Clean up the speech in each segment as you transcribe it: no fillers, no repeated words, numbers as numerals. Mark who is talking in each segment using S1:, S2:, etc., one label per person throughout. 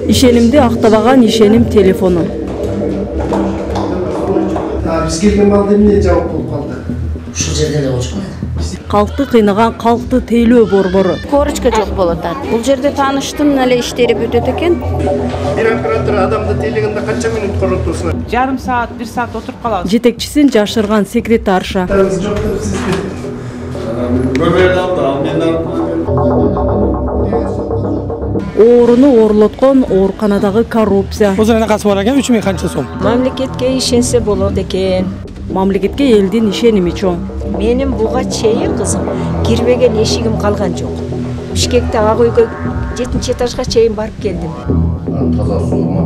S1: Ишенимди актабаган ишеним телефону.
S2: Биз келген балда эмне жабык болуп калды?
S3: Ушул жерде эле болчу.
S1: Калкты кыйнаган калкты тейлөө борбору.
S4: Корочка жок болот. Бул жерде тааныштын эле иштери бүтөт экен.
S2: Бир оператор адамды тейлегенде канча минут коротосуна?
S5: Жарым саат, 1 саат отуруп калабыз.
S1: Жетекчисин жашырган секретарша.
S2: Жок деп сиз
S1: Ооруну оорлоткон ооруканадагы коррупция.
S6: Озуна касып бар экен 3000 канча сом.
S7: Мамлекетке ишенсе болот экен.
S1: Мамлекетке элдин ишеними чоң.
S7: Менин буга чейин кызым кирбеген эшигим калган жок. Бишкекте ак үйгө 7-чи этажга чейин барып келдим.
S2: таза суу.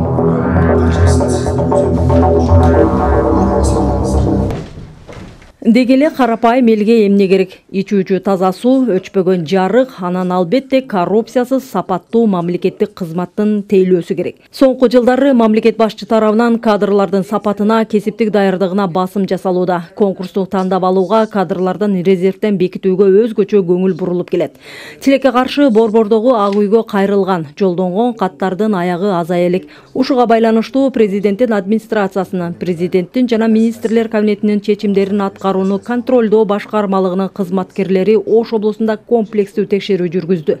S1: Дегеле карапайым элге эмне керек? Ичүүчү таза суу, өчпөгөн жарык, анан албетте коррупциясыз сапаттуу мамлекеттик кызматтын тейлөөсү керек. Соңку жылдары мамлекет башчы тарабынан кадрлардын сапатына, кесиптик даярдыгына басым жасалууда. Конкурстук тандап алууга, кадрлардын резервден бекитүүгө өзгөчө көңүл бурулуп келет. Тилекке каршы борбордогу ак үйгө кайрылган, жолдонгон каттардын аягы азая элек. Ушуга байланыштуу президенттин администрациясынын, президенттин жана министрлер кабинетинин чечимдерин аткарууну контролдоо башкармалыгынын кызматкерлери Ош облусунда комплекстүү текшерүү жүргүздү.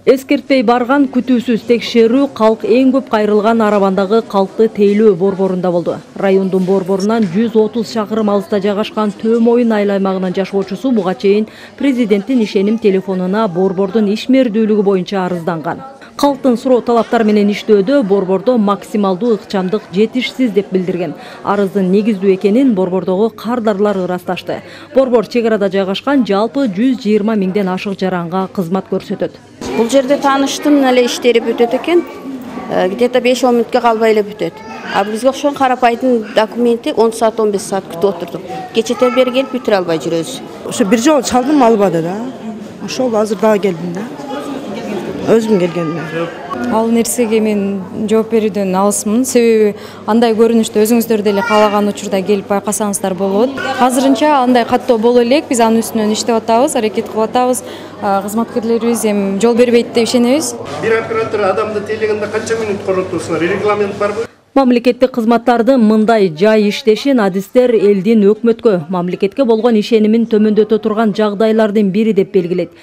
S1: Эскертпей барган күтүүсүз текшерүү калк эң көп кайрылган арабандагы калкты тейлөө борборунда болду. Райондун борборунан 130 шакырым алыста жайгашкан Төмөйүн айыл аймагынын жашоочусу буга чейин президенттин ишеним телефонуна борбордун ишмердүүлүгү боюнча арызданган. Калктын суроо талаптар менен иштөөдө борбордо максималдуу ыкчамдык жетишсиз деп билдирген. Арыздын негиздүү экенин борбордогу кардарлар ырасташты. Борбор чек арада жайгашкан жалпы 120 миңден ашык жаранга кызмат көрсөтөт.
S4: Бул жерде тааныштын эле иштери бүтөт экен. Где-то 5-10 мүнөткө калбай эле бүтөт. А бизге окшогон карапайдын документи 10 саат 15 саат күтүп отурдук. Кечетен бери келип бүтүрө албай жүрөбүз.
S8: Ошо бир жолу чалдым, албады да. Ошол азыр дагы келдим да. Өзүм келгенмин.
S9: Ал нерсеге мен жооп берүүдөн алысмын. Себеби андай көрүнүштө өзүңүздөр деле каалаган учурда келип байкасаңыздар болот. Азырынча андай каттоо боло элек, биз анын үстүнөн иштеп атабыз, аракет кылып атабыз. Кызматкерлерибиз эми жол бербейт деп ишенебиз.
S2: Бир оператор адамды тейлегенде канча минут коротосуна? Регламент барбы?
S1: Мамлекеттик кызматтардын мындай жай иштешин адистер элдин өкмөткө, мамлекетке болгон ишенимин төмөндөтө турган жагдайлардын бири деп белгилейт.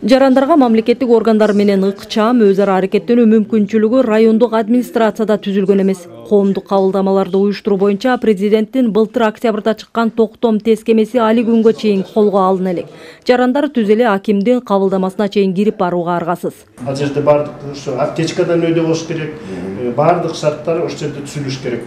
S1: Жарандарга мамлекеттик органдар менен ыкчам өз ара аракеттенүү мүмкүнчүлүгү райондук администрацияда түзүлгөн эмес. Коомдук кабылдамаларды уюштуруу боюнча президенттин былтыр октябрда чыккан токтом тескемеси али күнгө чейин колго алына элек. Жарандар түз эле акимдин кабылдамасына чейин кирип барууга аргасыз.
S2: Ал жерде бардык ушу аптечкадан өйдө болуш керек. Бардык шарттар ошол жерде түзүлүш керек.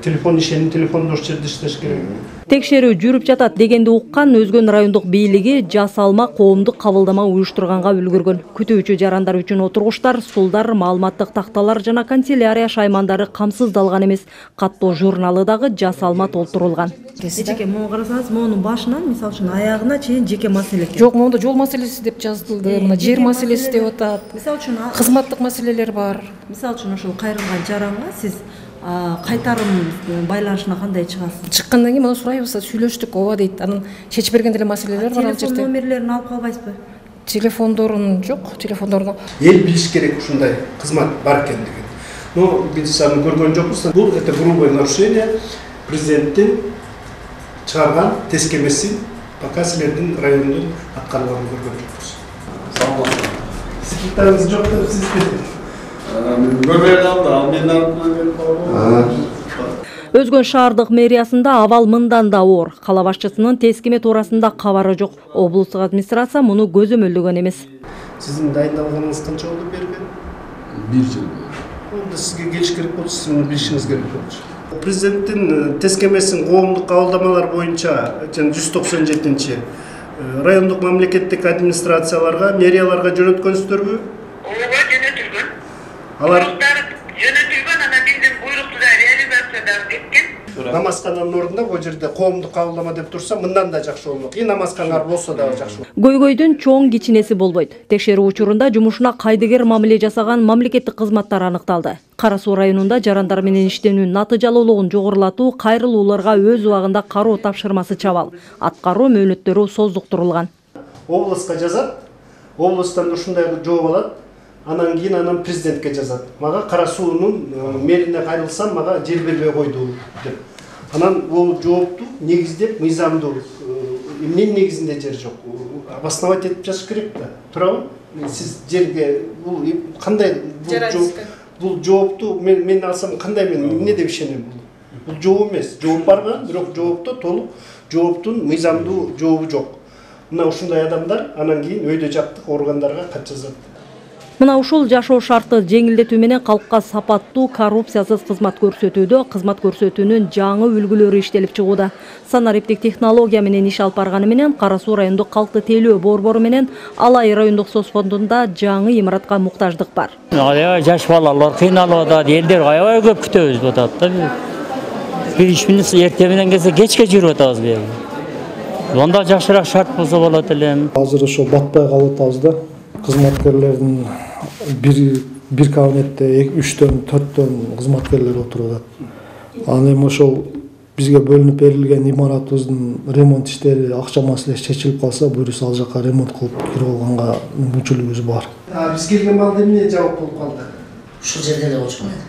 S2: Телефон ишеним телефонду ошол жерде иштеш керек.
S1: Текшерүү жүрүп жатат дегенди уккан Өзгөн райондук бийлиги жасалма коомдук кабылдама уюштурганга үлгүргөн. Күтүүчү жарандар үчүн отургучтар, стулдар, маалыматтык такталар жана канцелярия шаймандары камсыздалган эмес. Каттоо журналы дагы жасалма толтурулган.
S10: Эчеке мону карасаңыз, монун башынан, мисалы үчүн аягына чейин жеке маселе экен.
S9: Жок, монда жол маселеси деп жазылды, мына жер маселеси деп атат.
S10: Мисалы үчүн
S9: кызматтык маселелер бар.
S10: Мисалы үчүн ошол кайрылган жаранга сиз кайтарым байланышына кандай чыгасыз?
S9: Чыккандан кийин мына сурайбыз, сүйлөштүк, ооба дейт. Анан чечип берген деле маселелер бар ал жерде.
S10: Телефон номерлерин алып калбайсызбы?
S9: Телефондорун жок, телефондорун.
S2: Эл билиш керек ушундай кызмат бар экендигин. Но биз аны көргөн жокпуз. Бул это грубое нарушение президенттин чыгарган тескемеси пока силердин райондун аткарылганын көргөн жокпуз. Сау болуңуз. Секретарыңыз жок деп сиз
S1: Өзгөн шаардык мэриясында абал мындан да оор. Кала башчысынын тескеме туурасында кабары жок. Облустук администрация муну көзөмөлдөгөн эмес.
S2: Сиздин дайындалганыңыз канча болду берген?
S11: 1 жыл.
S2: Онда сизге келиш керек болчу, сиз муну билишиңиз керек болчу. Президенттин тескемесин коомдук кабылдамалар боюнча 197-чи райондук мамлекеттик администрацияларга, мэрияларга жөнөткөнсүздөрбү?
S12: Ооба, жөнөтүлгөн.
S2: Алар
S12: жөнөтүлгөн, анан биздин буйрукту да реализациядан кеткен.
S2: Намазкананын ордуна бул жерде коомдук кабылдама деп турса, мындан да жакшы болмок. И намазканалар болсо да жакшы болот.
S1: Көйгөйдүн чоң кичинеси болбойт. Текшерүү учурунда жумушуна кайдыгер мамиле жасаган мамлекеттик кызматтар аныкталды. Кара Суу районунда жарандар менен иштөөнүн натыйжалуулугун жогорулатуу, кайрылууларга өз убагында кароо тапшырмасы чабал. Аткаруу мөөнөттөрү создуктурулган.
S2: областка жазат, областтан ушундай жооп алат, анан кийин анан президентке жазат. Мага Кара суунун мэрине кайрылсам, мага жер бербей койду деп. Анан бул жоопту негиздеп, мыйзамдуу эмненин негизинде жер жок. Обосновать этип жазыш керек да. Туурабы? Сиз жерге бул кандай бул жоопту мен алсам кандай мен эмне деп ишенем бул? Бул жооп эмес. Жооп барган, бирок жоопто толук жооптун мыйзамдуу жообу жок. Мына ушундай адамдар анан кийин өйдө жактык органдарга кат жазат.
S1: Мына ушул жашоо шарты жеңилдетүү менен калкка сапаттуу, коррупциясыз кызмат көрсөтүүдө кызмат көрсөтүүнүн жаңы үлгүлөрү иштелип чыгууда. Санариптик технология менен иш алып барганы менен Кара Суу райондук калкты тейлөө борбору менен Алай райондук соц фондунда жаңы имаратка муктаждык бар.
S11: Жаш балалар кыйналып атат, элдер аябай көп күтөбүз атат да. Бир иш менен эртең менен келсе кечке жүрүп атабыз бияга. Онда жакшыраак шарт болсо болот элем.
S6: Азыр ошо батпай калып атабыз да. Кызматкерлердин бир кабинетте 3-төн 4төн кызматкерлер отуруп атат. Анан эми ошол бизге бөлүнүп берилген имаратыбыздын ремонт иштери, акча маселеси чечилип калса, буюрса ал жака ремонт кылып кирип алганга мүмкүнчүлүгүбүз бар.
S2: Биз келген балда эмне жабык болуп калды?
S3: Ушул жерде эле болчумайт.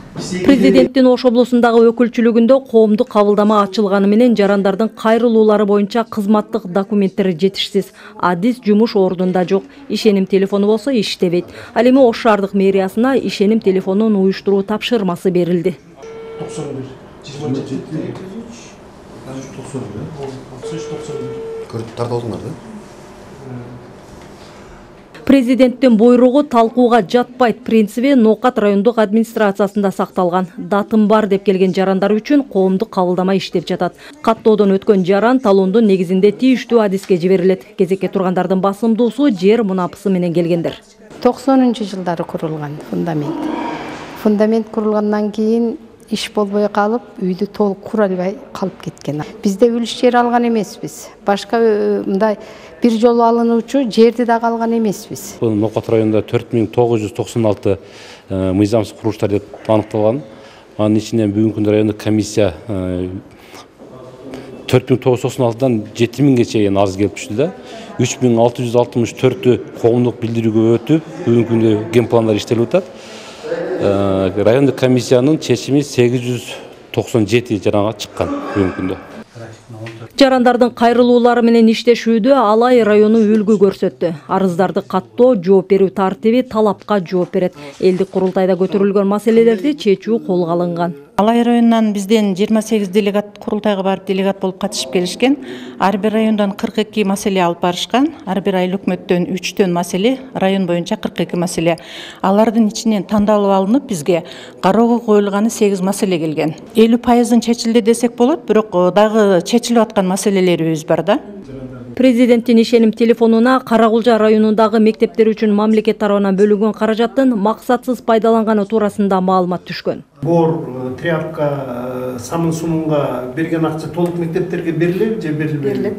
S1: Президенттин Ош облусундагы өкүлчүлүгүндө коомдук кабылдама ачылганы менен жарандардын кайрылуулары боюнча кызматтык документтери жетишсиз. Адис жумуш ордунда жок. Ишеним телефону болсо иштебейт. Ал эми Ош шаардык мэриясына ишеним телефонун уюштуруу тапшырмасы берилди.
S2: 91 27
S13: көрүп тартылдыңар да?
S1: Президенттин буйругу талкууга жатпайт принциби Ноокат райондук администрациясында сакталган. Датым бар деп келген жарандар үчүн коомдук кабылдама иштеп жатат. Каттоодон өткөн жаран талондун негизинде тийиштүү адиске жиберилет. Кезекке тургандардын басымдуусу жер мунапысы менен келгендер.
S14: 90-жылдары курулган фундамент. Фундамент курулгандан кийин иш болбой калып, үйдү толук кура албай калып кеткен. Бизде үлүш жер алган эмеспиз. Башка мындай бир жолу алынуучу жерди да алган эмеспиз.
S15: Бул Ноокат районунда 4996 мыйзамсыз курулуштар деп аныкталган. Анын ичинен бүгүнкү күндө райондук комиссия 4996дан 7000ге чейин арыз келип түштү да. 3664 коомдук билдирүүгө өтүп, бүгүнкү күндө генпландар иштелип атат. Райондук комиссиянын чечими 897 жаранга чыккан бүгүнкү күндө.
S1: Жарандардын кайрылуулары менен иштешүүдө Алай району үлгү көрсөттү. Арыздарды каттоо, жооп берүү тартиби талапка жооп берет. Элдик курултайда көтөрүлгөн маселелерди чечүү колго алынган.
S16: Алай районунан бизден 28 делегат курултайга барып делегат болуп катышып келишкен. Ар бир райондан 42 маселе алып барышкан. Ар бир айыл өкмөттөн 3төн маселе, район боюнча 42 маселе. Алардын ичинен тандалып алынып бизге кароого коюлганы 8 маселе келген. 50% чечилди десек болот, бирок дагы чечилип аткан маселелерибиз бар да.
S1: Президенттин ишеним телефонуна Каракулжа районундагы мектептер үчүн мамлекет тарабынан бөлүнгөн каражаттын максатсыз пайдаланганы туурасында маалымат түшкөн.
S2: Бор, тряпка, самын сумунга берген акча толук мектептерге берилеби же берилбейби?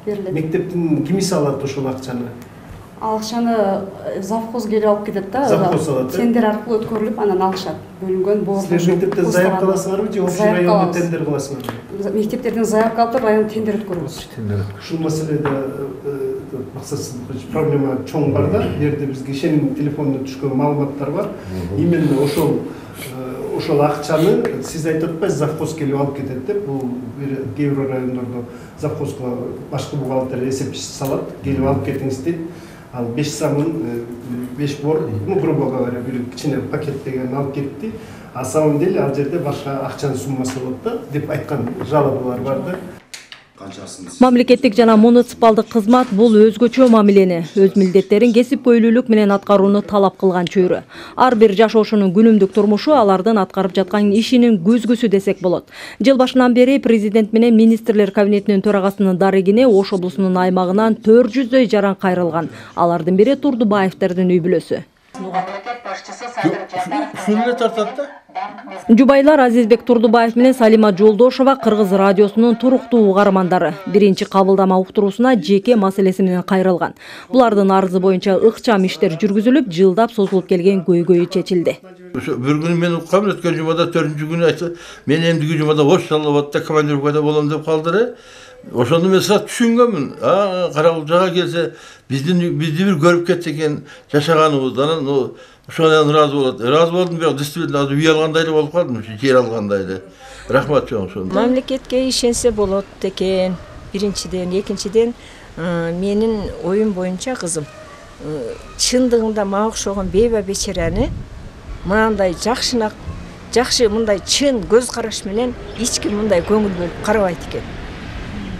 S17: Берилет.
S2: Мектептин кимиси алат ошол акчаны?
S17: Акчаны завхоз келип алып кетет да.
S2: Завхоз алат.
S17: Тендер аркылуу өткөрүлүп, анан алышат. Бөлүнгөн бор.
S2: Силер мектепте заявка кыласыңарбы же общий райондо тендер кыласыңарбы?
S17: Мектептерден заявка алып район тендер өткөрөбүз.
S2: Ушул маселеде максатсыз проблема чоң бар да. Жерде бизге ишеним телефонуна түшкөн маалыматтар бар. Именно ошол акчаны сиз айтып атпайсыз, завхоз келип алып кетет деп. Бул кээ бир райондордо завхозго башкы бухгалтер эсепчи салат, келип алып кетиңиз дейт. Ал 5 самын, 5 бор, грубо говоря, бир кичине пакет деген алып кетти. А самом деле ал жерде башка акчанын суммасы болот да, деп айткан жалобалар бар да.
S1: Мамлекеттик жана муниципалдык кызмат бул өзгөчө мамилени, өз милдеттерин кесипкөйлүүлүк менен аткарууну талап кылган чөйрө. Ар бир жашоочунун күнүмдүк турмушу алардын аткарып жаткан ишинин көзгүсү десек болот. Жыл башынан бери президент менен министрлер кабинетинин төрагасынын дарегине Ош облусунун аймагынан 400дөй жаран кайрылган. Алардын бири Турдубаевдердин үй бүлөсү.
S18: Ушул эле тартат да?
S1: Жубайлар Азизбек Турдубаев менен Салима Жолдошова Кыргыз радиосунун туруктуу угармандары. Биринчи кабылдама уктуруусуна жеке маселеси менен кайрылган. Булардын арызы боюнча ыкчам иштер жүргүзүлүп, жылдап созулуп келген көйгөйү чечилди.
S13: Bir gün men uqqam, ötken jumada 4-cü günü aytdı. Men endigi jumada Oşsalabadda komandirovkada bolam dep kaldyra. Oşondu men saat düşüngönmün. Karabuljaga gelse bizni bir görüp kettik eken жашаганыбыздан ошодан разы болот. Разы болдум, бирок действительно азыр үй алгандай болуп калдым, жер алгандай. Рахмат чоң ошондо.
S7: Мамлекетке ишенсе болот экен. Биринчиден, экинчиден менин оюм боюнча кызым чындыгында мага окшогон бейба бечераны мындай жакшы мындай чын көз караш менен эч ким мындай көңүл бөлүп карабайт экен.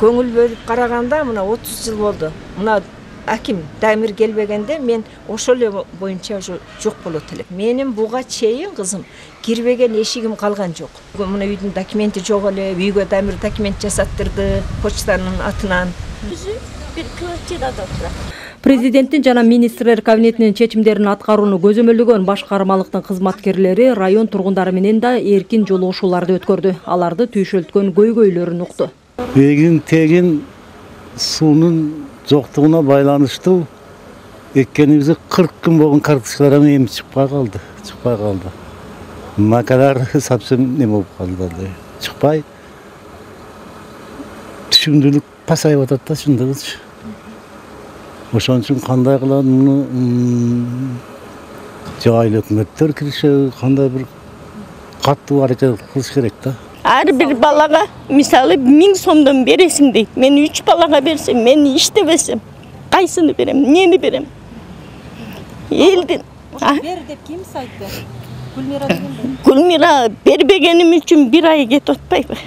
S7: Көңүл бөлүп караганда мына 30 жыл болду. Мына аким Дамир келбегенде мен ошол эле боюнча жок болот элем. Менин буга чейин кызым кирбеген эшигим калган жок. Мына үйдүн документи жок эле, үйгө Дамир документ жасаттырды почтанын атынан.
S18: Bir kvartirada oturат.
S1: Президенттин жана министрлер кабинетинин чечимдерин аткарууну көзөмөлдөгөн башкармалыктын кызматкерлери район тургундары менен да эркин жолугушууларды өткөрдү. Аларды түйшөлткөн көйгөйлөрүн укту.
S19: Эгин тегин суунун жоктугуна байланыштуу эккенибизде 40 күн болгон карточкалар эми чыкпай калды. Макалар совсем не болуп калды. Чыкпай. Түшүндүлүк пасайып атат да чындыгычы. Ошон үчүн кандай кылат муну жайлы өкмөттөр кириши кандай бир каттуу аракет кылыш керек да.
S18: Ар бир балага мисалы 1000 сомдон бересиң дейт. Мен 3 балага берсем, мен иштебесем, кайсыны берем, эмнени берем? Элдин
S17: бер деп ким айтты? Гүлмира дегенде.
S18: Гүлмира бербегеним үчүн 1 ай кетип атпайбы?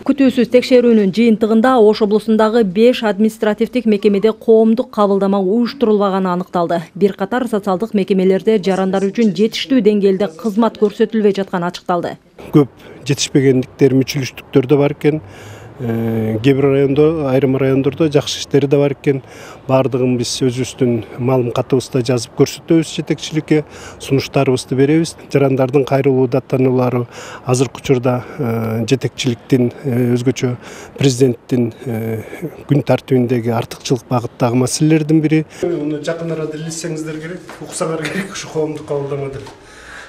S1: Күтүүсүз текшерүүнүн жыйынтыгында Ош облусундагы 5 административдик мекемеде коомдук кабылдама уюштурулбаганы аныкталды. Бир катар социалдык мекемелерде жарандар үчүн жетиштүү деңгээлде кызмат көрсөтүлбөй жатканы ачыкталды.
S2: Көп жетишпегендиктер, мүчүлүштүктөр да бар экен. Кээ бир райондо, айрым райондордо жакшы иштери да бар экен. Бардыгын биз өзүбүздүн маалым катыбызда жазып көрсөтөбүз, жетекчиликке сунуштарыбызды беребиз. Жарандардын кайрылуу даттануулары азыркы учурда жетекчиликтин өзгөчө президенттин күн тартибиндеги артыкчылык багыттагы маселелердин бири. Муну жакын арада илиссеңиздер керек, уксаңар керек ушу коомдук кабылдамада.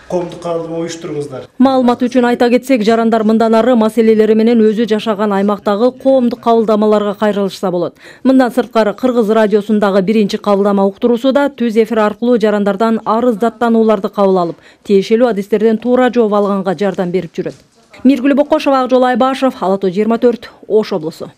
S2: Коомдук кабылдама уюштуруңуздар.
S1: Маалымат үчүн айта кетсек, жарандар мындан ары маселелери менен өзү жашаган аймактагы коомдук кабылдамаларга кайрылышса болот. Мындан сырткары Кыргыз радиосундагы биринчи кабылдама уктуруусу да түз эфир аркылуу жарандардан арыз даттанууларды кабыл алып, тиешелүү адистерден туура жооп алганга жардам берип жүрөт. Миргүл Бокошова, Акжол Айбашев, Ала Тоо 24, Ош облусу.